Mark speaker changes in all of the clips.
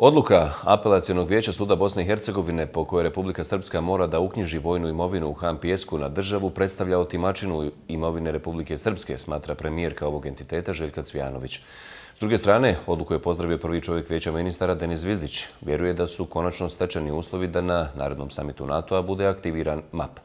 Speaker 1: Odluka Apelacionog vijeća suda Bosne i Hercegovine po kojoj Republika Srpska mora da uknjiži vojnu imovinu u Han Pijesku na državu predstavlja otimačinu imovine Republike Srpske, smatra premijerka ovog entiteta Željka Cvijanović. S druge strane, odluku je pozdravio prvi čovjek vijeća ministara Denis Zvizdić. Vjeruje da su konačno stečeni uslovi da na narednom samitu NATO-a bude aktiviran MAP.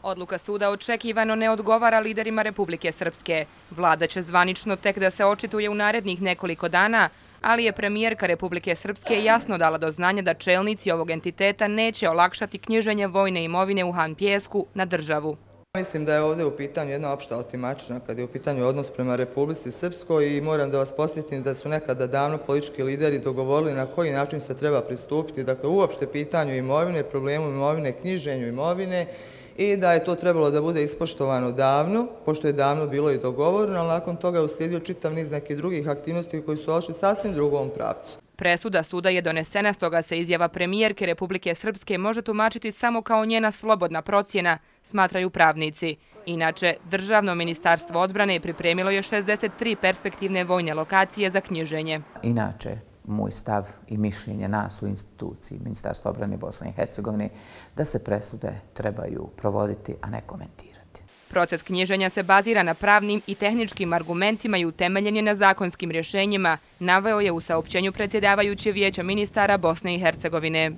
Speaker 2: Odluka suda očekivano ne odgovara liderima Republike Srpske. Vlada će zvanično tek da se očituje u narednih nekoliko dana, ali je premijerka Republike Srpske jasno dala do znanja da čelnici ovog entiteta neće olakšati knjiženje vojne imovine u Han Pijesku na državu.
Speaker 3: Mislim da je ovdje u pitanju jedna opšta otimačina kad je u pitanju odnos prema Republici Srpskoj i moram da vas podsjetim da su nekada davno politički lideri dogovorili na koji način se treba pristupiti, dakle uopšte pitanju imovine, problemu imovine, knjiženju imovine i da je to trebalo da bude ispoštovano davno, pošto je davno bilo i dogovoreno, ali nakon toga je uslijedio čitav niz nekih drugih aktivnosti koji su ošli sasvim drugom pravcu.
Speaker 2: Presuda suda je donesena, stoga se izjava premijerke Republike Srpske može tumačiti samo kao njena slobodna procjena, smatraju pravnici. Inače, Državno ministarstvo odbrane pripremilo je 63 perspektivne vojne lokacije za knjiženje.
Speaker 4: Inače, moj stav i mišljenje nas u instituciji Ministarstva odbrane Bosne i Hercegovine da se presude trebaju provoditi, a ne komentirati.
Speaker 2: Proces knjiženja se bazira na pravnim i tehničkim argumentima i utemeljen je na zakonskim rješenjima, naveo je u saopćenju predsjedavajući vijeća ministara Bosne i Hercegovine.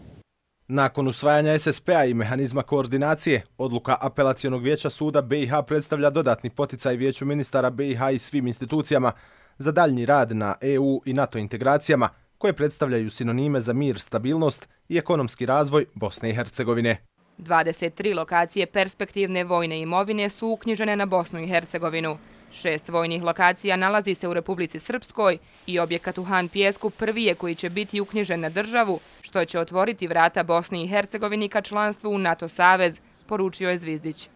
Speaker 5: Nakon usvajanja SSP-a i mehanizma koordinacije, odluka Apelacionog vijeća suda BiH predstavlja dodatni poticaj vijeću ministara BiH i svim institucijama za daljnji rad na EU i NATO integracijama, koje predstavljaju sinonime za mir, stabilnost i ekonomski razvoj Bosne i Hercegovine.
Speaker 2: 23 lokacije perspektivne vojne imovine su uknjižene na Bosnu i Hercegovinu. 6 vojnih lokacija nalazi se u Republici Srpskoj i objekat u Han Pijesku prvi je koji će biti uknjižen na državu, što će otvoriti vrata Bosni i Hercegovini ka članstvu u NATO savez, poručio je Zvizdić.